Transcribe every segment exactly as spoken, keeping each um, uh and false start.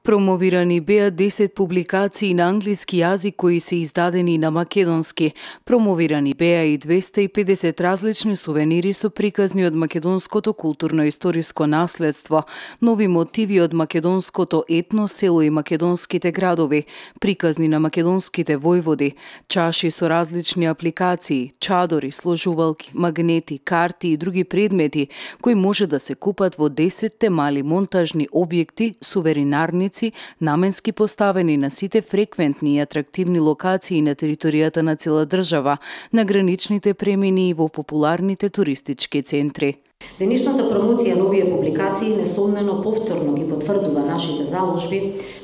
Промовирани беа десет публикации на англиски јазик кои се издадени на македонски. Промовирани беа и двесте и педесет различни сувенири со приказни од македонското културно-историско наследство, нови мотиви од македонското етно, село и македонските градови, приказни на македонските војводи, чаши со различни апликации, чадори, сложувалки, магнети, карти и други предмети кои може да се купат во десетте мали монтажни објекти, суверинарници, наменски поставени на сите фреквентни и атрактивни локации на територијата на цела држава, на граничните премини и во популарните туристички центри. Денешната промоција на овие публикации несомнено повторно ги потврдува нашите заложби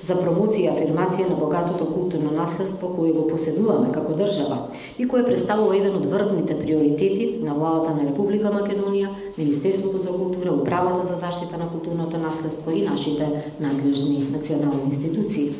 за промоција и афирмација на богатото културно наследство кое го поседуваме како држава и кое представува еден од врвните приоритети на владата на Република Македонија, Министерството за култура, Управата за заштита на културното наследство и нашите надлежни национални институции.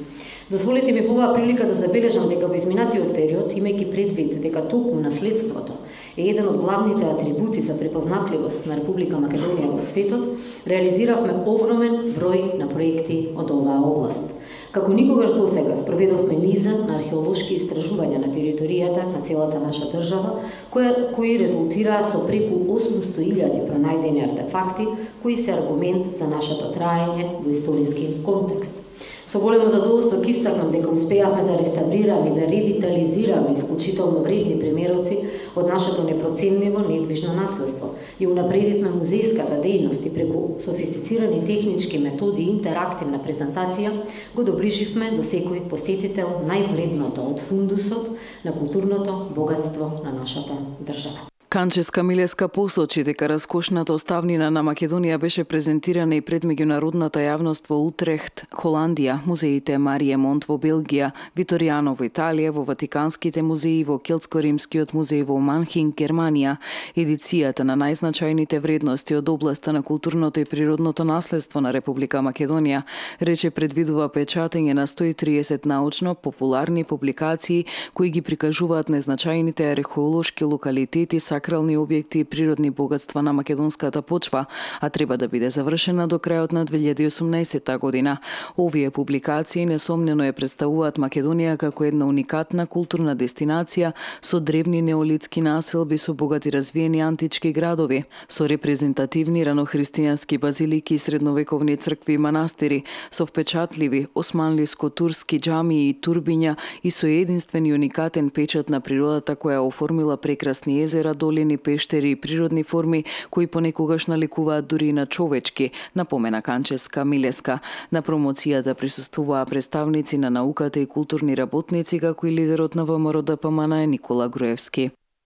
Дозволете ми во оваа прилика да забележам дека во изминатиот период, имајќи предвид дека токму наследството е еден од главните атрибути за препознатливост на Република Македонија во светот, реализиравме огромен број на проекти од оваа област. Како никогаш досега спроведовме низа на археолошки истражувања на територијата на целата наша држава, кои, кои резултираа со преку осумсто илјади пронајдени артефакти, кои се аргумент за нашето траење во историски контекст. Со големо задоволство ќе истакнам дека успеавме да реставрираме и да ревитализираме исклучително вредни примероци од нашето непроценливо недвижно наследство и унапредивме музејската дејност и преку софистицирани технички методи и интерактивна презентација го доближивме до секој посетител највредното од фундусот на културното богатство на нашата држава. Канческа Милеска посочи дека раскошната оставнина на Македонија беше презентирана и пред меѓународната јавност во Утрехт, Холандија, музеите Марија Монт во Белгија, Виторијано во Италија, во Ватиканските музеи, во Келтско-римскиот музеј во Манхинг, Германија. Едицијата на најзначајните вредности од областа на културното и природното наследство на Република Македонија рече предвидува печатење на сто и триесет научно популарни публикации кои ги прикажуваат најзначајните археолошки локалитети, сакрални објекти и природни богатства на македонската почва, а треба да биде завршена до крајот на две илјади и осумнаесетта година. Овие публикации несомнено ја представуваат Македонија како една уникатна културна дестинација со древни неолитски населби, со богати развиени антички градови, со репрезентативни ранохристијански базилики и средновековни цркви и манастири, со впечатливи османлиско-турски џамии и турбиња и со единствен и уникатен печат на природата која оформила прекрасни езера, долини, пештери и природни форми кои понекогаш наликуваат дури и на човечки, напомена Канческа Милеска. На промоцијата присуствуваа представници на науката и културни работници, како и лидерот на ВМРО ДПМН Никола Груевски.